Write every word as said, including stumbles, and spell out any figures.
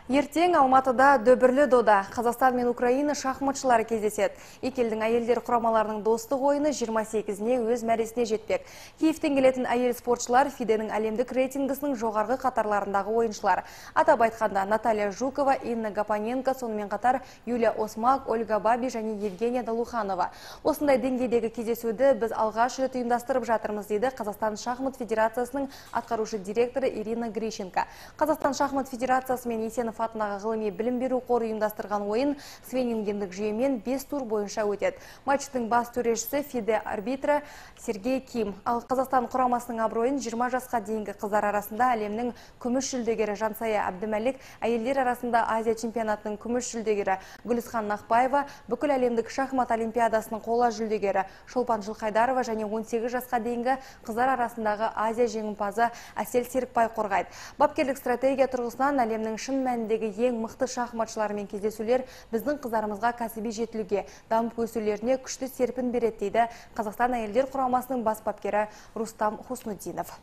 Ертең Алматыда дөбірлі дода Қазақстан мен Украина шахматшылары кездеседі. Екі елдің әйелдер құрамаларының достық ойыны жиырма сегізіне өз мәресіне жетпек. Киевтен келетін әйел спортшылар Фиденің әлемдік рейтингісінің жоғарғы қатарларындағы ойыншылар. Атап айтқанда Наталья Жукова, Инна Гапоненко, сонымен қатар Юлия Осмак, Ольга Баби және Евгения Долуханова. Осындай деңгейдегі кездесуді біз алғаш рет ұйымдастырып жатырмыз, дейді Қазақстан шахмат федерациясының атқарушы директоры Ирина Грищенко. Қазақстан шахмат федерациясы мен Есенов атындағы ғылыми білім беру қоры ұйымдастырған ойын свенингендік жүйемен бес тур бойынша өтеді. Матчтың бас төрешісі Фиде арбитрі Сергей Ким. Ал Қазақстан құрамасының абыройын жиырма жасқа дейінгі қыздар арасында әлемнің күміс жүлдегері Жансая Әбдімәлік, әйелдер арасында Азия чемпионатының күміс жүлдегері Гүлісхан Нақбаева, бүкіл әлемдік шахмат олимпиадасының қола жүлдегері Шолпан Жылқайдарова және он сегіз жасқа дейінгі қыздар арасындағы Азия жеңімпазы Әсел Серікбай қорғайды. Бапкерлік стратегия тұрғысынан әлемнің шын мәніндегі ең мықты шахматшылармен кездесулер біздің қыздарымызға кәсіби жетілуге, дамып өсулеріне күшті серпін береді, дейді Қазақстан әйелдер құрамасының бас бапкері Рустам Хуснуддинов.